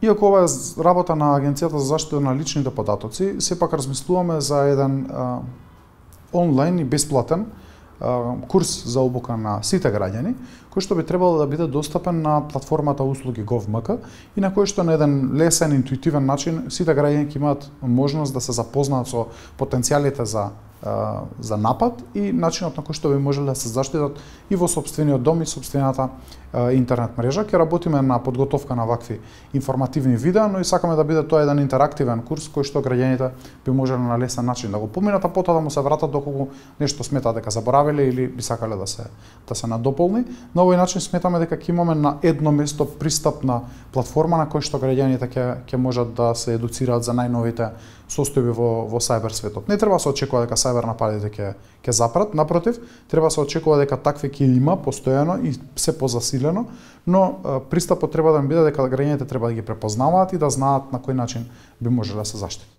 Иако ова е работа на Агенцијата за заштита на личните податоци, сепак размислуваме за еден онлайн и бесплатен курс за обука на сите граѓани, кој што би требало да биде достапен на платформата услуги Gov.mk и на кој што на еден лесен, интуитивен начин сите граѓани ќе имаат можност да се запознаат со потенцијалите за напад и начинот на кој што би можеле да се заштитат и во сопствениот дом и сопствената интернет мрежа. Ќе работиме на подготовка на вакви информативни видеа, но и сакаме да биде тоа еден интерактивен курс кој што граѓаните би можеле на лесен начин да го поминат, а потоа да му се вратат доколку нешто сметаат дека заборавиле или би сакале да се надополни. На овој начин сметаме дека ќе имаме на едно место пристапна платформа на кој што граѓаните ќе можат да се едуцираат за најновите состојби во сајбер светот. Не треба да се очекува дека сајбер нападите ќе запрат, напротив, треба да се очекува дека такви ќе има постојано и се позасилено, но пристапот треба да биде дека граѓаните треба да ги препознаваат и да знаат на кој начин би можеле да се заштитат.